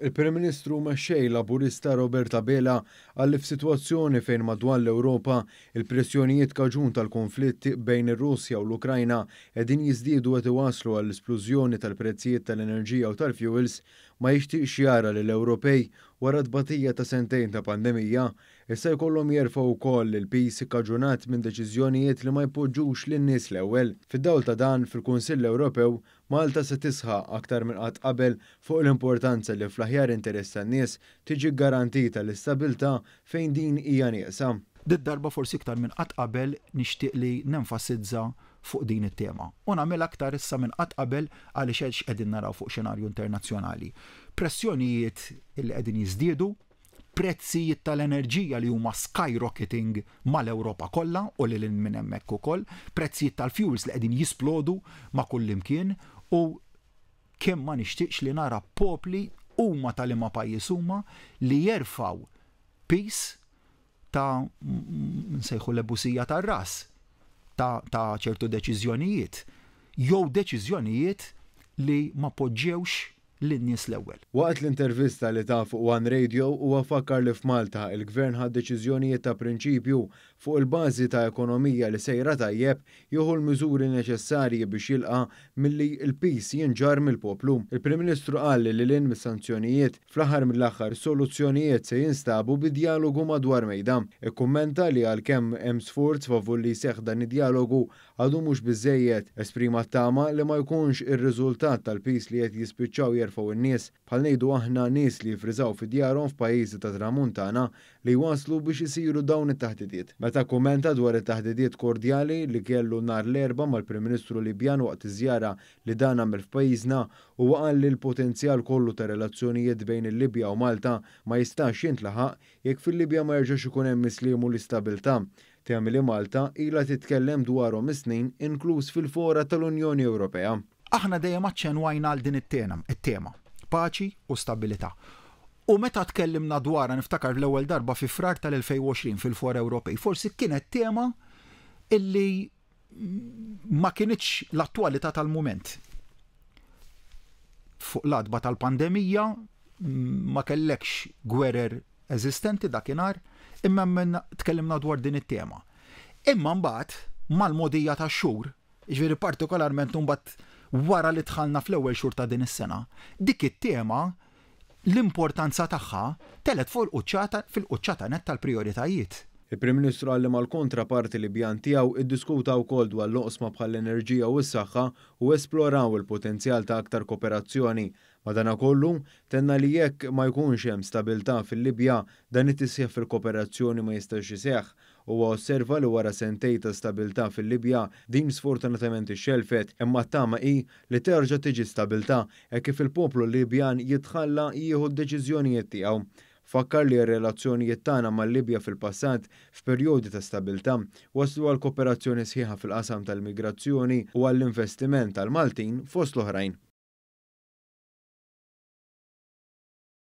Il-Prim Ministru u Mexxej Laburista Robert Abela qal li f'sitwazzjoni fejn madwar l-Ewropa il-pressjonijiet kaġun tal-kunflitt bejn ir-Russja u l-Ukrajna qegħdin jiżdiedu qed iwasslu għall-isplużjoni tal-prezzijiet tal-enerġija u tal-fuels, ma jixtieqx jara li l-Ewropej, wara t-tbatija ta' sentejn ta' pandemija, issa jkollhom jerfgħu wkoll il-piż ikkaġunat minn deċiżjonijiet li ma jpoġġux lin-nies l-ewwel. Fid-dawl ta' dan, fil-Kunsill Ewropew, Malta se tisħaq aktar minn qatt qabel fuq l-importanza li fl-aħjar interess tan-nies tiġi ggarantita l-istabilità fejn din hija nieqsa. Did-darba forsi iktar minn qatt qabel nixtieq li nenfasizza fuq din it-tema. U nagħmilha aktar issa minn qatt qabel għaliex hekk x'qegħdin naraw fuq xenarju internazzjonali. Pressjonijiet li qegħdin jiżdiedu, prezzijiet tal-enerġija li huma skyrocketing mal-Ewropa kollha u lil hinn minn hemmhekk ukoll, prezzijiet tal-fuels li qegħdin jisplodu ma' kullimkien u kemm ma nixtieqx li nara popli huma ta' liema pajjiż huma li jerfgħu piż ta' nsejħu l-ebusija tar-ras ta' ta' ċertu deċiżjonijiet jew deċiżjonijiet li ma poġġewx lin-nies l-ewwel. Waqt l-intervista li ta fuq One Radio huwa fakkar li f'Malta il-Gvern ħa deċiżjonijiet ta' prinċipju fuq il-bażi ta' ekonomija li sejra tajjeb jieħu l-miżuri neċessarji biex jilqa' milli l-piż jinġarr mill-poplu. Il-Prim Ministru qal li lil hinn mis-sanzjonijiet, fl-aħħar mill-aħħar soluzzjonijiet se jinstabu bi djalogu madwar mejda. Ikkummenta li għalkemm hemm sforz favur li jseħħ dan id-djalogu, Għadu mhux biżżejjed. Esprima t-tama li ma jkunx ir-riżultat tal-piż li qed jispiċċaw jerfgħu n-nies, bħal ngħidu aħna nies li jiffriżaw fi djarhom f'pajjiżi tat-Tramuntana, li jwasslu biex isiru dawn it-taħdidiet. Meta kkummenta dwar it-taħdidiet kordjali li kellu nhar l-Erbgħa mal-Prim Ministru Libjan waqt iż-żjara li dan għamel f'pajjiżna, huwa qal li l-potenzjal kollu tar-relazzjonijiet bejn il-Libja u Malta ma jistax jintlaħaq jekk fil-Libja ma jerġax ikun hemm is-sliem u l-istabilità. Temi li Malta ilha titkellem dwarhom is-snin inkluż fil-fora tal-Unjoni Ewropea. Aħna dejjem aċċenwajna għal din it-tema, paċi u stabilità. U meta tkellimna dwarha niftakar l-ewwel darba fi Frar tal-2020 fil-fora Ewropej, forsi kienet tema illi ma kinitx l-attwalità tal-mument. Fuq l-għatba tal-pandemija ma kellekx gwerer eżistenti dakinhar, imma hemm tkellimna dwar din it-tema. Imma mbagħad mal-mogħdija tax-xhur, jiġifieri partikolarment imbagħad wara li dħalna fl-ewwel xhur ta' din is-sena, dik it-tema l-importanza tagħha telgħet fuq il-quċċata fil-quċċata nett tal-prijoritajiet. Il-Prim Ministru qal li mal-kontraparti Libjan tiegħu iddiskuta wkoll dwar l-oqsma bħall-enerġija u s-saħħa u esploraw il-potenzjal ta' aktar koperazzjoni. Madanakollu, tenna li jekk ma jkunx hemm stabilità fil-Libja, dan it-tisħiħ fil-koperazzjoni ma jistax iseħħ. Huwa osserva li wara sentejn ta' stabilità fil-Libja, din sfortunatament ixxellfet, imma t-tama hi li terġa' tiġi stabilità hekk kif il-poplu Libjan jitħalla jieħu d-deċiżjonijiet tiegħu. Fakkar li r-relazzjonijiet tagħna mal-Libja fil-passat, f'perjodi ta' stabilità, wasslu għal koperazzjoni sħiħa fil-qasam tal-migrazzjoni u għall-investiment tal-Maltin fost l-oħrajn.